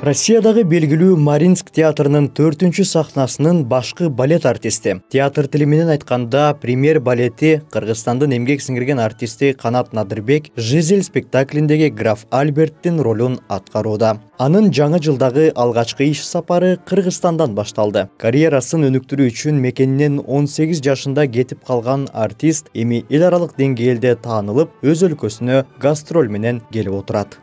Россиядагы белгилүү Маринск театрынын 4-чү сахнасынын башкы балет артисти. Театр тили менен айтканда, премьер балети Кыргызстандын эмгек сиңирген артисти Канат Надырбек Жизель спектаклиндеги граф Альберттин ролун аткарууда. Анын жаңы жылдагы алгачкы иш сапары Кыргызстандан башталды. Карьерасын өнүктүрүү үчүн мекенинен 18 жашында кетип калган артист эми эл аралык деңгээлде таанылып, өз өлкөсүнө гастроль менен келип отурат.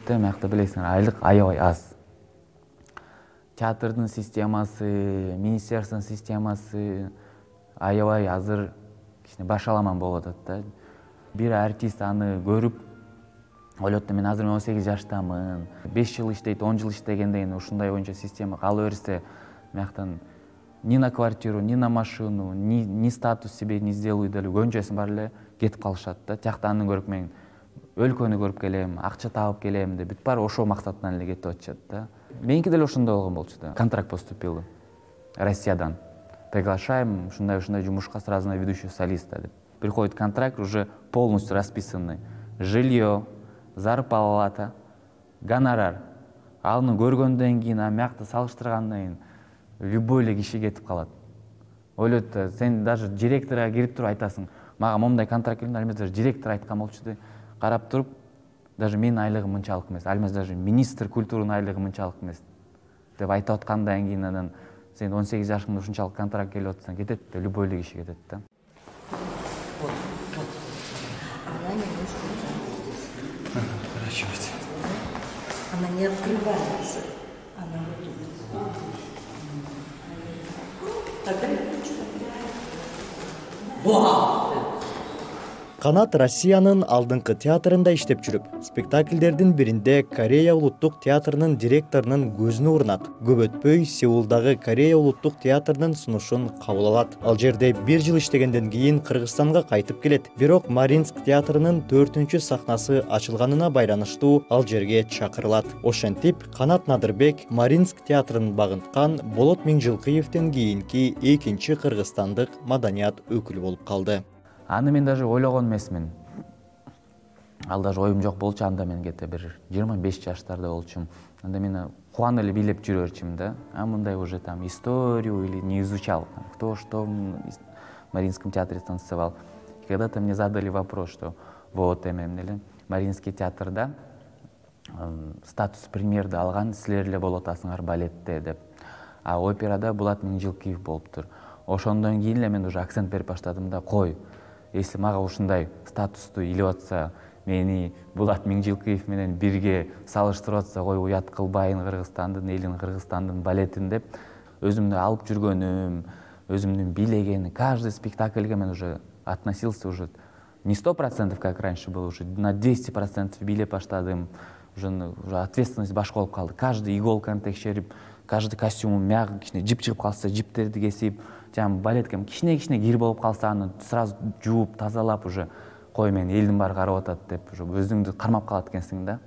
Мякты билесиңер, айлык аябай аз. Театрдын системасы, министерствонун системасы аябай азыр кичине башаламан болуп атат да. Бир артист аны көрүп, ойлойт, мен азыр 18 жаштамын, 5 жыл иштейт, 10 жыл иштегенден кийин ушундай боюнча система кала берсе, мяктан ни на квартиру, ни на машину, ни статус себе не сделаю деле, көңчөсүн баары эле кетип калышат да. Тиякта аны көрүп мен өлкөнү көрүп келем, акча табып келем деп, бүт баары ошол максаттан эле кетип атышат да. Меники деле ошондой болгон болчу да. Контракт поступил Россиядан. Приглашаем ушундай жумушка сразу на ведущего солиста деп. Приходит контракт уже полностью расписанный. Жилье, зарплата, гонорар. Аны көргөндөн кийин, мякты салыштыргандан кийин любой эле киши кетип калат. Ойлойт, сен даже директорго кирип туруп айтасың, мага момундай контракт келди, ал даже директор айткан болчу да. Карап туруп, даже менин айлыгым мынчалык эмес, ал даже министр культуранын айлыгы мынчалык эмес деп айтып аткандан кийин анан сен 18 жашыңда ушунчалык контракт келип атсаң кетет да, любой эле киши кетет да. Она не открывается. Она вот тут. Канат Россиянын алдыңкы театрында иштеп жүрүп, спектакльдердин биринде Корея улуттук театрынын директорунун көзүнө урунат. Көп өтпөй Сеулдагы Корея улуттук театрынын сунушун кабыл алат. Ал жерде 1 жыл иштегенден кийин Кыргызстанга кайтып келет. Бирок Маринск театрынын 4-чү сахнасы ачылганына байланыштуу ал жерге чакырылат. Ошентип, Канат Надырбек Маринск театрын багынткан Болот Миңжилкыевден кийинки экинчи кыргызстандык маданият өкүлү болуп калды. Аны мен даже ойлогон эмесмин. Ал даже оюм жок болчу, анда мен кете бир 25 жаштарда болчумун. Анда мен кубанып эле бийлеп жүрө берчүмүн да. Мындай уже там историю или не изучал, кто что в Маринском театре танцевал. И когда-то мне задали вопрос, что вот эле Маринский театрда статус премьерди алган силер эле болуп атасыңар балетте деп. А операда Булат Миңжилкиев болуптур. Ошондон кийин эле мен уже акцент берип баштадым да, кой, если мага ушундай статусту илип атса, мени Булат Миңжилкиев менен бирге салыштырып атса, кой, уят кылбайын Кыргызстандын элин, Кыргызстандын балетин деп, өзүмдү алып жүргөнүм, өзүмдүн бийлегени, каждый спектакльге мен уже относился уже не 100%, как раньше было, уже на 200% бийлеп баштадым. Уже ответственность башка болуп калды. Каждый иголканы текшерип, каждый костюмун мягы кичине жип чыгып калса, жиптерди кесип, жана балетке кичине кир болуп калса, аны сразу жууп, тазалап уже кой, мен элдин баары карап атат деп, уже өзүңдү кармап калат экенсиң да.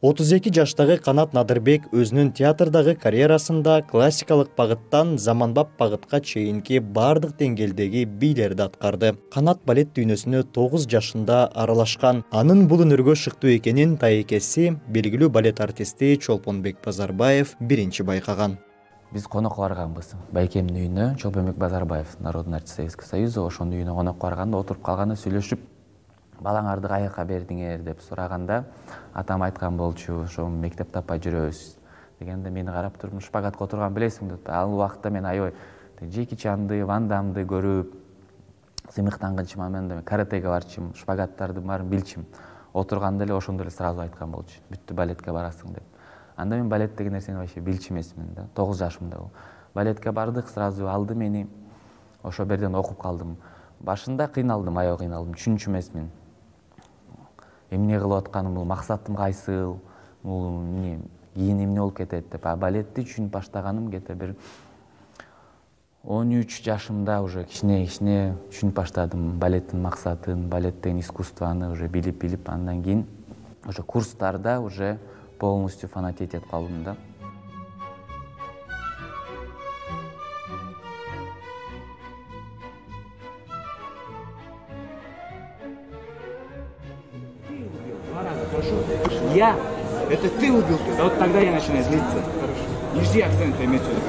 32 жаштагы Канат Надырбек өзүнүн театрдагы карьерасында классикалык багыттан заманбап багытка чейинки бардык деңгээлдеги бийлерди аткарды. Канат балет дүйнөсүнө 9 жашында аралашкан. Анын бул өнөргө шыктуу экенин тайекеси, белгилүү балет артисти Чолпонбек Базарбаев биринчи байкаган. Биз конокко барганбыз. Байкемдин үйүнө, Чолпонбек Базарбаев, народный артист Советского Союза, ошонун үйүнө конокко барганда, отуруп калганда сүйлөшүп, балаңарды каяка бердиңер деп сураганда, атам айткан болчу, ошо мектеп таппай жүрөбүз дегенде, мени карап туруп, шпагатка отурган билесиң деп. Ал убакта мен аябай Джеки Чанды, Ван Дамды көрүп, сыймыктангычым, мен каратеге барчумун, шпагаттарды баарын билчим. Отурганда эле ошондо эле сразу айткан болчу, бүттү, балетке барасың деп. Анда мен балет деген нерсени вообще билчү эмесмин да, 9 жашымда бул. Балетке бардык, сразу алды мени, ошо берден окуп калдым. Башында кыйналдым, аябай кыйналдым, түшүнчү эмесмин. Эмне кылып атканым, бул максатым кайсыл, бул эмне, кийин эмне болуп кетет деп. Балетти түшүнүп баштаганым кете бир 13 жашымда уже кичине түшүнүп баштадым балеттин максатын, балет деген искусствону уже билип, андан кийин уже курстарда уже полностью фанатеть этип калдым да. Я? Это ты убил? Вот тогда я начинаю злиться. Не жди акцента, иметь в виду.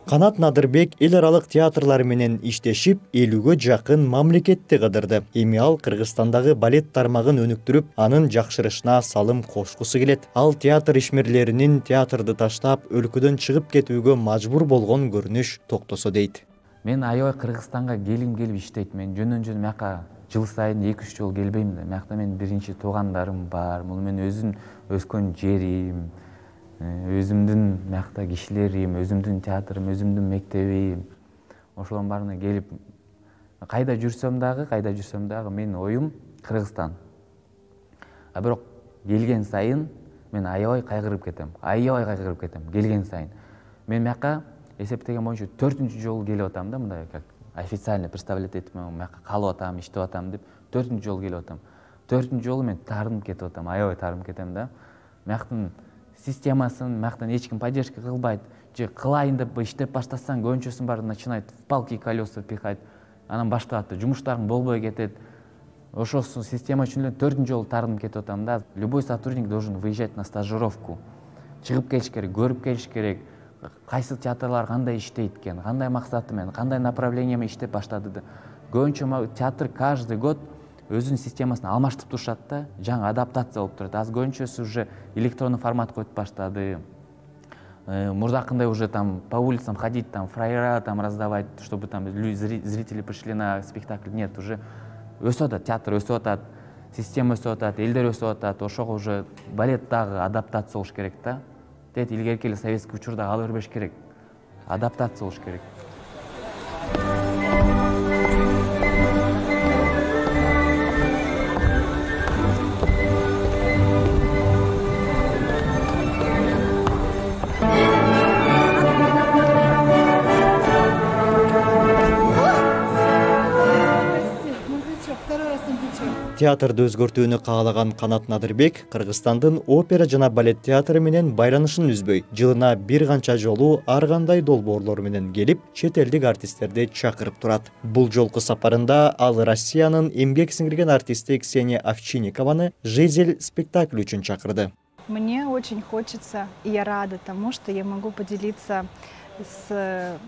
Канат Надырбек эл аралык театрлар менен иштешип, 50ге жакын мамлекетти кыдырды. Эми ал Кыргызстандагы балет тармагын өнүктүрүп, анын жакшырышына салым кошкусу келет. Ал театр ишмерлеринин театрды таштап, өлкөдөн чыгып кетүүгө мажбур болгон көрүнүш токтосо дейт. Мен аябай Кыргызстанга келип иштейт. Мен жөн мияка жыл сайын 2-3 жолу келбейм да. Миякта мен биринчи туугандарым бар. Бул мен өзүм өскөн жерим, өзүмдүн миякта кишилерим, өзүмдүн театрым, өзүмдүн мектебим. Ошолордун баарына келип, кайда жүрсөм дагы менин оюм Кыргызстан. А бирок келген сайын мен аябай кайгырып кетем. Келген сайын. Мен мияка эсептеген боюнча 4-үнчү жолу келип атам да, мындай как официально представлять этип, мияка калып атам, иштеп атам деп 4-үнчү жолу келип атам. 4-үнчү жолу мен таарынып кетип атам, аябай таарынып кетем да. Мияктын системасын, мияктан эч ким поддержка кылбайт. Же кылайын деп иштеп баштасаң, көбүнчөсүн баары начинает в палки и колеса пихать. Анан баштап атты, жумуштарың болбой кетет. Ошосу система үчүн эле 4-үнчү жолу таарынып кетип атам да. Любой сотрудник должен выезжать на стажировку. Чыгып келиш керек, көрүп келиш керек. Кайсы театрлар кандай иштейт экен, кандай максаты менен, кандай направление менен иштеп баштады да. Көбүнчө театр каждый год өзүнүн системасын алмаштырып турушат да, жаңы адаптация болуп турат. Азыр көбүнчөсү уже электронный формат коюп баштады. Мурдакындай уже там по улицам ходить, там фраера там раздавать, чтобы там зрители пришли на спектакль. Нет, уже өсүп атат, театр өсүп атат, система өсүп атат, элдер өсүп атат. Ошого уже балет дагы адаптация болуш керек да. Тет илгерки эле советский учурда кала бербеш керек. Адаптация болуш керек. Театрды өзгөртүүнү каалаган Канат Надырбек Кыргызстандын опера жана балет театры менен байланышын үзбөй, жылына бир канча жолу ар кандай долбоорлор менен келип, чет элдик артисттерди чакырып турат. Бул жолку сапарында ал Россиянын эмгек сиңирген артисти Ксения Овчинникованы «Жизель» спектакль үчүн чакырды. Мне очень хочется, и я рада тому, что я могу поделиться с...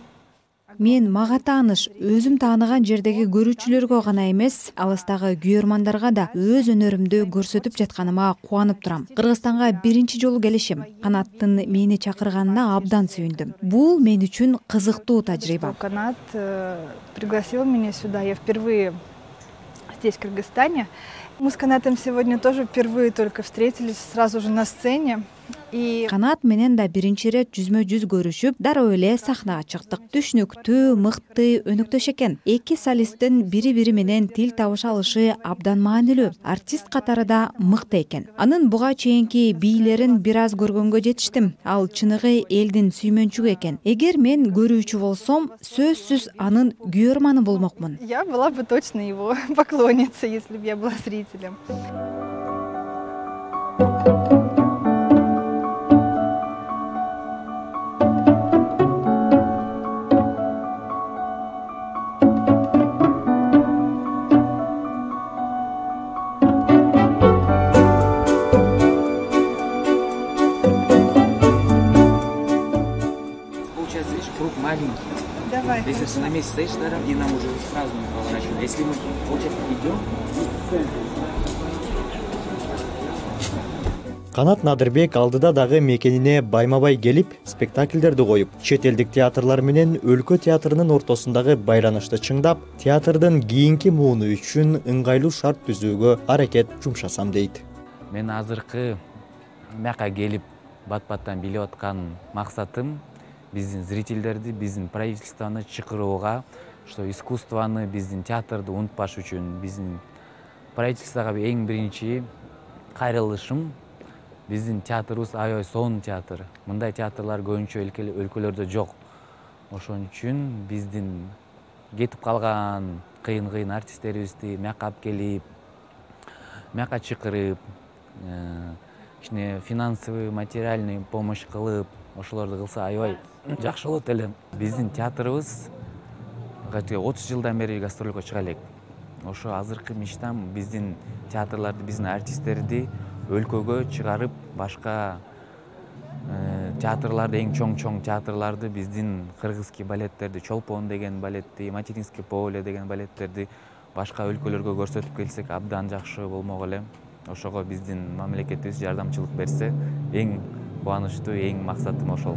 Мен мага тааныш, өзүм тааныган жердеги көрүүчүлөргө гана эмес, алыстагы күйөрмандарга да өз өнөрүмдү көрсөтүп жатканыма кубанып турам. Кыргызстанга биринчи жолу келишим. Канаттын мени чакырганына абдан сүйүндүм. Бул мен үчүн кызыктуу тажрыйба. Канат пригласил меня сюда. Я впервые здесь, в Кыргызстане. Мы с Канатом сегодня тоже впервые только встретились сразу же на сцене. Канат менен да биринчи ирет жүзмө-жүз көрүшүп, дароо эле сахнага чыктык. Түшүнүктүү, мыкты, өнүктөш экен. Эки солисттин бири-бири менен тил табыша алышы абдан маанилүү. Артист катары да мыкты экен. Анын буга чейинки бийлерин бир аз көргөнгө жетиштим. Ал чыныгы элдин сүймөнчүгү экен. Эгер мен көрүүчү болсом, сөзсүз анын күйөрманы болмокмун. Я была бы точно его поклонницей, если бы я была зрителем. Давай. Если ты на месте стоишь, тогда и нам уже сразу не поворачиваем. Если мы, получается, идем в центр. Канат Надырбек алдыда дагы мекенине байма-бай келип, спектакльдерди коюп, чет элдик театрлар менен өлкө театрынын ортосундагы байланышты чыңдап, театрдын кийинки мууну үчүн ыңгайлуу шарт түзүүгө аракет жумшасам дейт. Мен азыркы мияка келип бат-баттан билип аткан максатым биздин зрительдерди, биздин правительствону чакырууга, что искусствону, биздин театрды унутпаш үчүн, биздин правительствого эң биринчи кайрылышым. Биздин театрыбыз аябай сонун театр. Мындай театрлар көбүнчө өлкөлөрдө жок. Ошон үчүн биздин кетип калган кыйын артисттерибизди мияка алып келип, мияка чакырып, финансовый, материальный помощь кылып, ошолорду кылса аябай жакшы болот эле. Биздин театрыбыз 30 жылдан бери гастролго чыга элек. Ошо азыркы мечтам биздин театрларды, биздин артисттерди өлкөгө чыгарып башка театрларды, эң чоң театрларды, биздин кыргызский балеттерди, Чолпон деген балетти, Материнский поле деген балеттерди башка өлкөлөргө көрсөтүп келсек абдан жакшы болмок эле. Ошого биздин мамлекетибиз жардамчылык берсе, эң кубанычтуу, эң максатым ошол.